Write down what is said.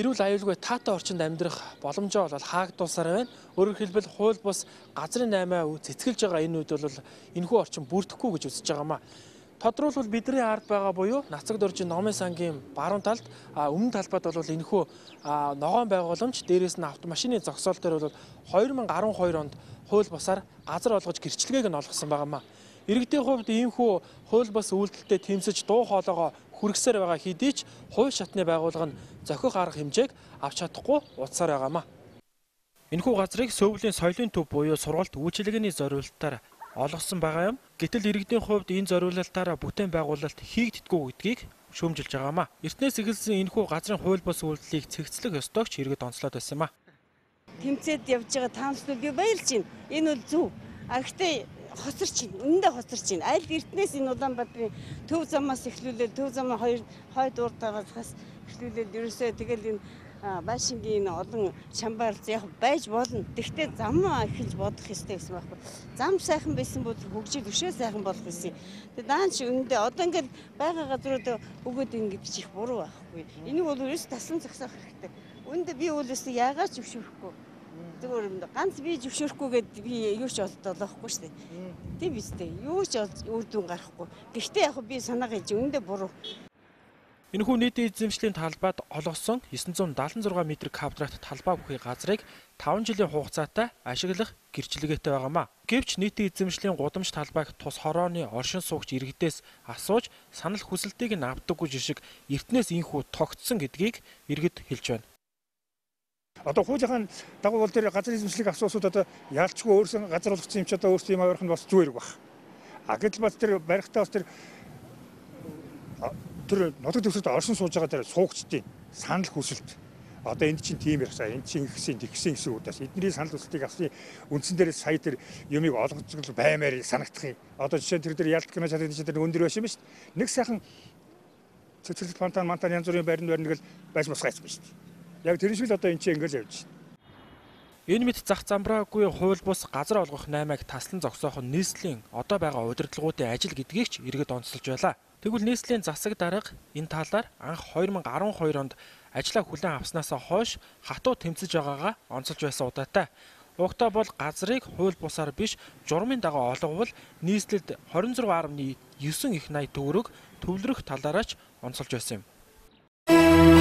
эрүүл аюулгүй таатай орчинд амьдрах боломжоо бол хаагдуулсаар байна. Өөрөөр хэлбэл хууль бус газрын 8 цэцгэлж байгаа энэ үед бол энэхүү орчин бүрдэхгүй гэж үзэж байгаамаа. Тодруулбал бидний ард байгаа буюу Нацаг доржин Номын сангийн баруун талд өмнө талбайд бол энэхүү ногоон байгууламж, дээрээс нь автомашины зогсоол дээр бол 2012 онд хууль бусаар газар олгож гэрчлэгийг нь олгосон байгаамаа. Иргэдийн хувьд иймхүү хууль бус үйлдэлтэд тэмцэж дуу хоолойгоо хүргэсээр байгаа хэдий ч хувь шатны байгууллага нь зохих арга хэмжээг авч чадахгүй утсаар байгаамаа. Энэхүү газрыг Сөүлийн соёлын төв буюу сургалт үйлчилгээний зориулалтаар олгосон байгаа юм. Гэтэл иргэдийн хувьд энэ зориулалтаараа бүтээн байгуулалт хийгддэггүй гэдгийг шүүмжилж байгаамаа. Эртнээс эхэлсэн энэхүү газрын хууль бус үйлдэлийг цэгцлэх ёстойгч иргэд онцлоод байсан юм а. Тэмцээд явж байгаа таамаглалд би баярлж байна. Энэ бол зөв. Гэхдээ хоцорч байна. Үнэндээ хоцорч байна. Аль эртнээс энэ Улаанбаатарын төв замаас эхлүүлээд төв замын хойд урдаагаас эхлүүлээд ерөөсөө тэгэл энэ Байшингийн олон шамбаарлц яг байж болно. Тэгвэл зам эхэлж бодох ёстой гэсэн байхгүй. Зам сайхан байсан бол хөгжил өшөө сайхан болох гэсэн. Тэгээ даанч үнэндээ одоо ингээд байгаа газрууд өгөөд ингэ гэдэг чих буруу байхгүй. Энийг бол ерөөс таслан зогсоох хэрэгтэй. Үнэндээ би үлээсээ яагаад ч зөвшөөрөхгүй. Зүгээр ганц би зөвшөөрөхгүйгээд би юу ч олдоолохгүй шүү дээ. Тийм биз дээ. Юу ч үр дүн гарахгүй. Гэхдээ яг би санаа хэлж үнэндээ буруу. Энэхүү нийтийн эзэмшлийн талбайд олгосон 976 м квадрат талбай бүхий газрыг 5 жилийн хугацаатай ашиглах гэрчлэгээтэй байгаамаа. Гэвч нийтийн эзэмшлийн гудамж талбайг тус хорооны оршин суугч иргэдээс асууж санал хүсэлтийг нь авдаггүй жишг эртнээс инхүү тогтсон гэдгийг иргэд хэлж байна. Одоо хуулийн дагуу бол тэр газрын эзэмшлийг асуусууд одоо яалчгүй өөрсдөө газар олгосон юм ч одоо өөрсдөө юм авах нь бас зүгээр баг. Гэтэл бас тэр барихтаа бас тэр нутаг дэвсгэрт оршин сууж байгаа тэр суугчдын санал хүсэлт одоо энд чинь тийм ярьсаа энд чинь ихсэн тэгсэн гэсэн үгдээс эдний санал хүсэлтийг авсан үндсэн дээр сая тэр юмыг олгож баймаар санагдах юм. Одоо жишээ нь тэр ялт кино чаддаг тэр өндөр байш юм шүү дээ. Нэг сайхан цэцэрлэг фонтан янз бүрийн байранд л байж мосгайсан шүү дээ. Яг тэр шиг л одоо энэ чинь ингээл явж байна. Энэ мэт зах замбраагүй хууль бус газар олгох 8-ыг таслан зогсоох нь нийслэлийн одоо байгаа удирдлагуудын ажил гэдгийг ч иргэд онцолж байлаа. Тэгвэл нийслэлийн засаг дарга энэ талаар анх 2012 онд ажлаа хүлээн авснаасаа хойш хатуу тэмцэж байгаагаа онцолж байсан удаатай. Угтаа бол газрыг хууль бусаар биш журмын дагуу олговол нийслэлд 26.9 их найт төгрөг төвлөрөх талаараач онцолж байсан юм.